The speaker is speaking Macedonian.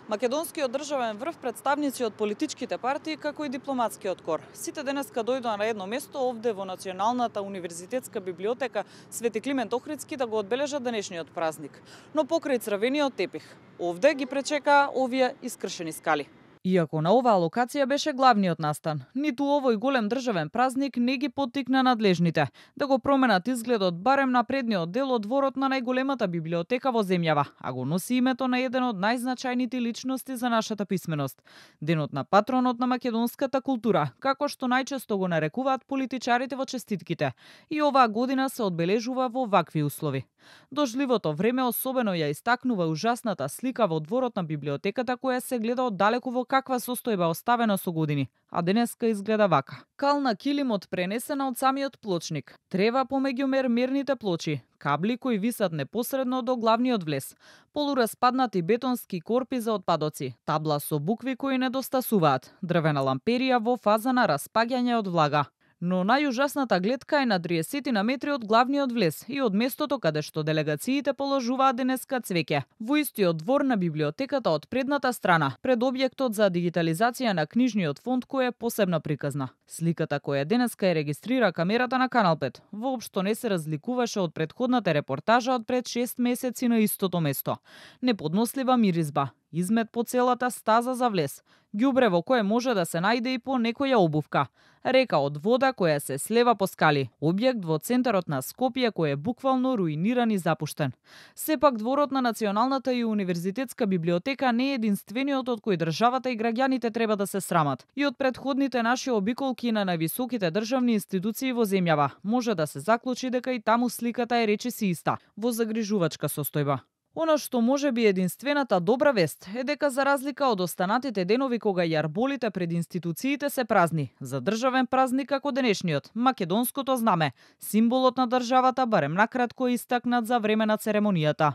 Македонскиот државен врв, представници од политичките партии, како и дипломатскиот кор. Сите денеска дојдоа на едно место овде во Националната универзитетска библиотека Свети Климент Охридски да го одбележат денешниот празник. Но покрај црвениот тепих, овде ги пречекаа овие искршени скали. Иако на оваа локација беше главниот настан, ниту овој голем државен празник не ги поттикна надлежните да го променат изгледот барем на предниот дел од дворот на најголемата библиотека во земјава, а го носи името на еден од најзначајните личности за нашата писменост, денот на патронот на македонската култура, како што најчесто го нарекуваат политичарите во честитките. И оваа година се одбележува во вакви услови. Дождливото време особено ја истакнува ужасната слика во дворот на библиотеката која се гледа оддалеку во каква состојба оставена со години, а денеска изгледа вака. Кална килимот пренесена од самиот плочник, трева помеѓу мерните плочи, кабли кои висат непосредно до главниот влез, полураспаднати бетонски корпи за отпадоци, табла со букви кои недостасуваат, дрвена ламперија во фаза на распаѓање од влага. Но најужасната гледка е на 30 на метри од главниот влез и од местото каде што делегациите положуваат денеска цвеќе. Во истиот двор на библиотеката од предната страна, пред објектот за дигитализација на книжниот фонд кој е посебно приказна. Сликата која денеска ја регистрира камерата на Канал 5 воопшто не се разликуваше од претходната репортажа од пред 6 месеци на истото место. Неподнослива миризба, измет по целата стаза за влез, ѓубре во кое може да се најде и по некоја обувка, река од вода која се слева по скали, објект во центарот на Скопје кој е буквално руиниран и запуштен. Сепак дворот на Националната и универзитетска библиотека не е единствениот од кој државата и граѓаните треба да се срамат. И од претходните наши обиколки на највисоките државни институции во земјава може да се заклучи дека и таму сликата е речиси иста, во загрижувачка состојба. Оно што може би единствената добра вест е дека за разлика од останатите денови кога јарболите пред институциите се празни, за државен празник како денешниот, македонското знаме, символот на државата барем накратко истакнат за време на церемонијата.